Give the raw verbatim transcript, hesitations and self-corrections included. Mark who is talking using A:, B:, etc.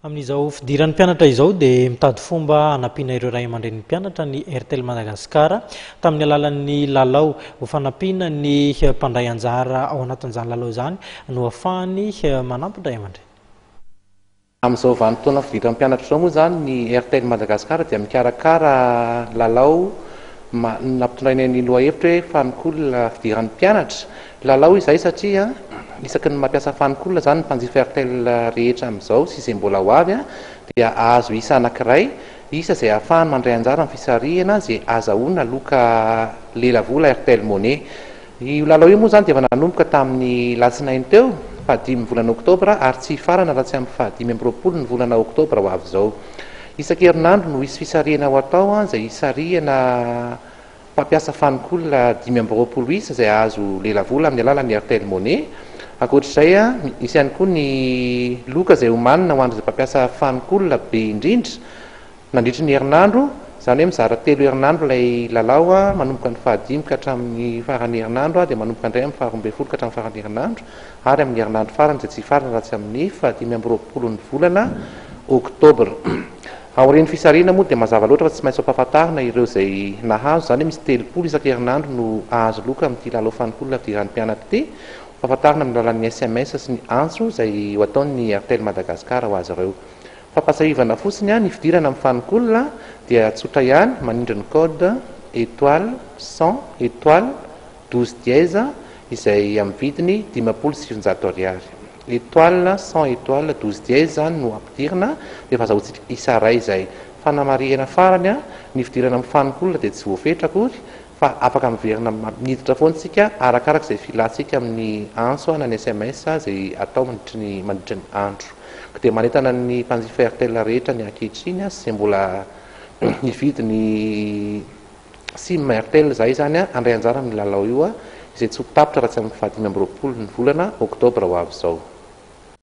A: Amin'izao fidiran'ny mpianatra izao dia mitady fomba hanampiana ireo ray aman-drenin'ny mpianatra ny Airtel Madagascar tamin'ny alalan'ny lalao. Ho fanampiana ny mpandray anjara ao anatin'izany lalao izany no ahafahany manampy ny ray aman-dreny.
B: Amin'izao vanim-potoana fidiran'ny mpianatra izao moa zany, ny Airtel Madagascar dia mikarakara lalao nampitondraina ny lohahevitra hoe "Fun Call fidiran'ny mpianatra". Lalao izay satria isaky ny mampiasa Fun Call zany ny mpanjifa Airtel rehetra amin'izao sy izay mbola ho avy a dia ahazo isa anankiray, isa izay ahafahany mandray anjara amin'ny fisarihana zay azahoana loka lelavola Airtel Money. Io lalao io moa zany dia efa nanomboka tamin'ny latsinainy teo, fahadimy volana oktobra, ary tsy hifarana raha tsy amin'ny fahadimy amby roapolo ny volana oktobra ho avy izao. Isan-kerinandro no hisy fisarihana ho atao a izay hisarihana mpampiasa Fun Call dimy amby roapolo isa izay ahazo lelavola amin'ny alalan'ny Airtel Money. Ankoatr'izay a misy ihany koa ny loka izay homanina ho an'izay mpampiasa Fun Call be indrindra nandritry ny herinandro. Zany hoe mizara telo herinandro ilay lalao a manomboka ny fahadimy ka hatramin'ny faran'ny herinandro a dia manomboka indray amin'ny faharoa ambin'ny folo ka hatramin'ny faran'ny herinandro, ary amin'ny herinandro farany izay tsy hifarana raha tsy amin'ny fahadimy amby roapolo ny volana oktobra. Aorian'ny fisarihana moa dia mazava loatra fa tsy maintsy ampahafantarina ireo izay nahazo. Zany hoe misy telopolo isan-kerinandro no ahazo loka amin'ity lalao Fun Call fidiran'ny mpianatra ity, fahafantarina amin'ny alalan'ny S M S sy ny antso izay ho ataon'ny Airtel Madagascar ho azy ireo. Fampahatsiahivana fotsiny a ny fidirana amin'ny Fun Call dia tsotra ihany: manindry ny code étoile cent étoile douze dièse izay amin'ny vidiny dimampolo sy sivinjato ariary. Étoile cent étoile douze dièse zany no ampidirina dia efa azahoantsika isa ray izay. Fanamarihana farany a ny fidirana amin'ny Fun Call dia tsy voafetra akory fa afaka miverina miditra foana tsika arakaraka izay filantsika amin'ny antso na ny S M S zay atao mandritry ny mandritry ny andro. Ka dia manentana ny mpanjifa Airtel rehetra ny ankehitriny a sy mbola nividy ny sim Airtel zay zany a handray anjara amin'ny lalao io a izay tsy ho tapitra raha tsy amin'ny fahadimy amby roapolo ny volana oktobra ho avy izao.